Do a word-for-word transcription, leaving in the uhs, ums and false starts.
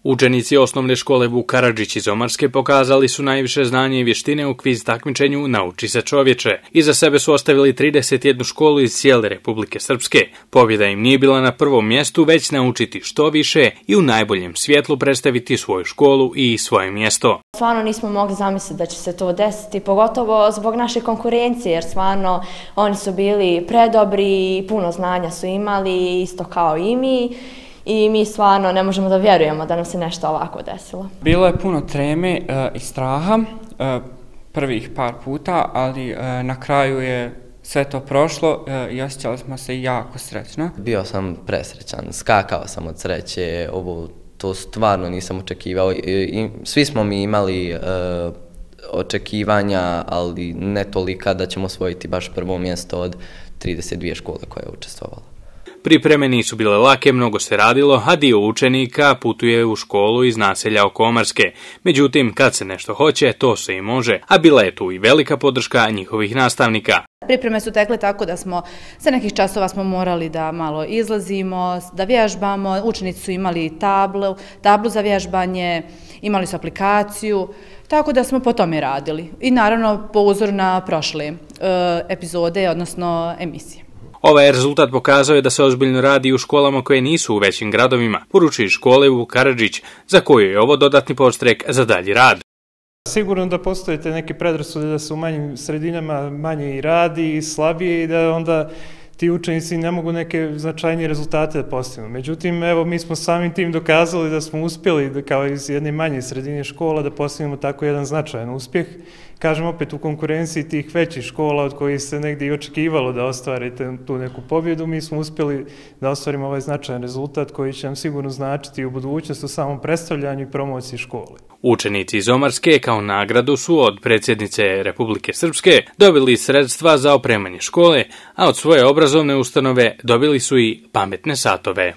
Učenici osnovne škole Vuk Karadžić iz Omarske pokazali su najviše znanje i vještine u kviz takmičenju Nauči se čovječe. Iza sebe su ostavili trideset jednu školu iz cijele Republike Srpske. Pobjeda im nije bila na prvom mjestu, već naučiti što više i u najboljem svjetlu predstaviti svoju školu i svoje mjesto. Stvarno nismo mogli zamisliti da će se to desiti, pogotovo zbog naše konkurencije, jer stvarno oni su bili predobri i puno znanja su imali, isto kao i mi. I mi stvarno ne možemo da vjerujemo da nam se nešto ovako desilo. Bilo je puno treme uh, i straha uh, prvih par puta, ali uh, na kraju je sve to prošlo uh, i osjećali smo se jako srećno. Bio sam presrećan, skakao sam od sreće, ovo to stvarno nisam očekivao. I, i, svi smo mi imali uh, očekivanja, ali ne tolika da ćemo osvojiti baš prvo mjesto od trideset dvije škole koje je učestvovala. Pripreme nisu bile lake, mnogo se radilo, a dio učenika putuje u školu iz naselja oko Omarske. Međutim, kad se nešto hoće, to se i može, a bila je tu i velika podrška njihovih nastavnika. Pripreme su tekle tako da smo, sa nekih časova smo morali da malo izlazimo, da vježbamo, učenici su imali tablu, tablu za vježbanje, imali su aplikaciju, tako da smo po tome radili. I naravno po uzoru na prošle e, epizode, odnosno emisije. Ovaj rezultat pokazao je da se ozbiljno radi u školama koje nisu u većim gradovima, poručuje škole Vuk Karadžić, za koju je ovo dodatni podstrek za dalji rad. Sigurno da postoje te neke predrasude da se u manjim sredinama manje i radi i slabije i da onda ti učenici ne mogu neke značajnije rezultate da postignu. Međutim, evo, mi smo samim tim dokazali da smo uspjeli da kao iz jedne manje sredine škola da postignemo tako jedan značajan uspjeh. Kažem opet, u konkurenciji tih većih škola od kojih se negdje i očekivalo da ostvarite tu neku pobjedu, mi smo uspjeli da ostvarimo ovaj značajan rezultat koji će nam sigurno značiti u budućnosti u samom predstavljanju i promociji škole. Učenici iz Omarske kao nagradu su od predsjednice Republike Srpske dobili sredstva za opremanje škole, a od svoje obrazovne ustanove dobili su i pametne satove.